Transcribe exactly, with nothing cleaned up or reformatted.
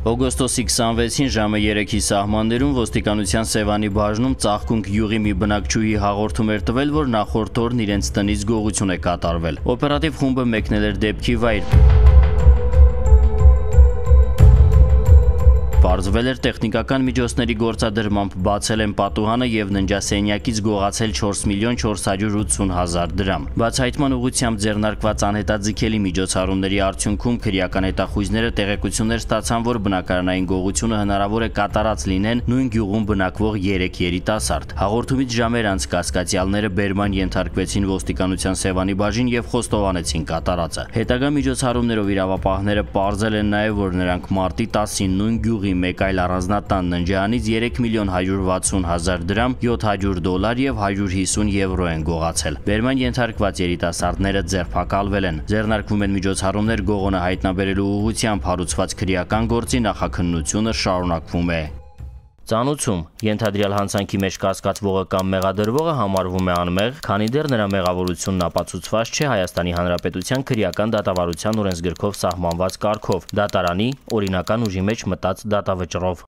Օգոստոսի քսանվեցին ժամը երեքի սահմաններում ոստիկանության Սևանի բաժնում Ծաղկունք գյուղի մի բնակչուհի հաղորդում էր տվել, որ նախորդ օրն իրենց տնից գողություն է կատարվել։ Օպերատիվ խումբը մեկնել էր դեպքի վայր։ Պարզվել էր տեխնիկական միջոցների գործադրմամբ բացել են պատուհանը եւ ննջասենյակից գողացել չորս միլիոն չորս հարյուր ութսուն հազար դրամ։ Բացահայտման ուղղությամբ ձեռնարկված անհետաձգելի միջոցառումների արդյունքում քրեական հետախույզները տեղեկություններ ստացան, որ բնակարանային գողությունը հնարավոր է կատարած լինեն նույն գյուղում բնակվող երեք երիտասարդ։ Հաղորդումից ժամեր անց կասկածյալները բերման ենթարկվեցին ոստիկանության Սևանի բաժին եւ խոստովանեցին կատարածը։ Հետագա միջոցառումներով իրավապահները պարզել են նաեւ, որ նրանք մարտի տասին նույն գյուղի մեկ այլ առանձնատան ննջարանից երեք միլիոն հարյուր վաթսուն հազար դրամ, յոթ հարյուր դոլար եւ հարյուր հիսուն եվրո են գողացել։ Բերման ենթարկված երիտասարդները ձերբակալվել են։ Ձեռնարկվում են միջոցառումներ գողոնը հայտնաբերելու ուղղությամբ, հարուցված քրեական գործի նախաքննությունը շարունակվում է։ Ծանուցում ենթադրյալ հանցանքի մեջ կասկածվողը կամ մեղադրվողը համարվում է անմեղ, քանի դեռ նրա մեղավորությունն ապացուցված չէ Հայաստանի Հանրապետության քրեական դատավարության օրենսգրքով սահմանված կարգով՝ դատարանի օրինական ուժի մեջ մտած դատավճռով։